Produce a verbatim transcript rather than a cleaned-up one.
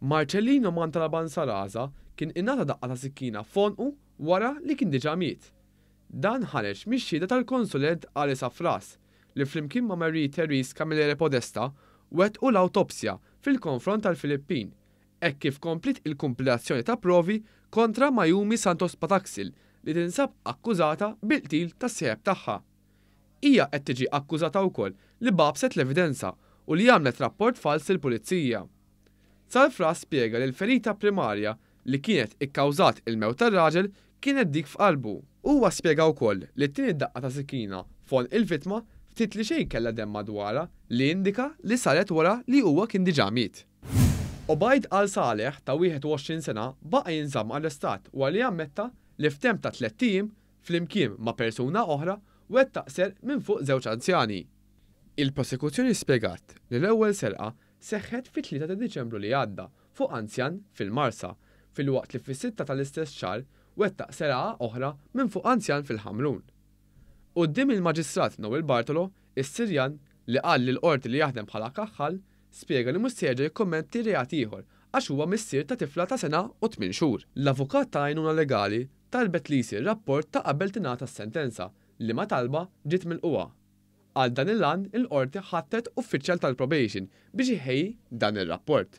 Marcellino Mantalaban Saraza kien ingħata daqqa ta' sikkina f'għonqu wara li kien diġà miet. Dan ħareġ mix-xhieda tal-konsulent Ali Safras li flimkien ma' Marie Therese Camilleri Podesta wettqu l-awtopsja fil-konfront tal-Filippin hekk kif kompliet il-kumpilazzjoni ta' provi kontra Mayumi Santos Pataxil li tinsab akkużata bil-qtil tas-sieħeb tagħha. Hija qed tiġi akkużata wkoll li bagħbset l-evidenza u li għamlet rapport fals lill-pulizija. Salfras spjega li l-ferita primarja li kienet ikkawżat il-mewt tar-raġel kienet dik f'qalbu. Huwa spjega wkoll li t-tieni daqqa ta' sikkina f'għonq il-vittma ftit li xejn kellha demm madwarha li indika li saret wara li huwa kien diġà miet. Obaid Al Saleh ta' wieħed u għoxrin sena baqa' jinżamm arrestat wara li ammetta li f'temp ta' tlett ijiem flimkien ma' persuna oħra wettaq serq minn fuq żewġ anzjani. Il-prosekuzzjoni spjegat li l-ewwel serqa seħħet fit-tlieta ta' Diċembru li għadda fuq anzjan fil-Marsa filwaqt li fis-sitta tal-istess xahar wettaq serqa oħra minn fuq anzjan fil-Ħamrun. Quddiem il-Maġistrat Noel Bartolo, is-Sirjan, li qal lill-Qorti li jaħdem bħala kaħħal, spjega li mhux se jerġa' jikkommetti reat ieħor għax huwa missier ta' tifla ta' sena u tmien xhur. L-avukat ta' għajnuna legali talbet li jsir rapport ta' qabel tingħata s-sentenza, liema talba ġiet milqugħa. Għal dan il-għan il-Qorti ħatret uffiċjal tal-probation biex iħejji dan ir-rapport.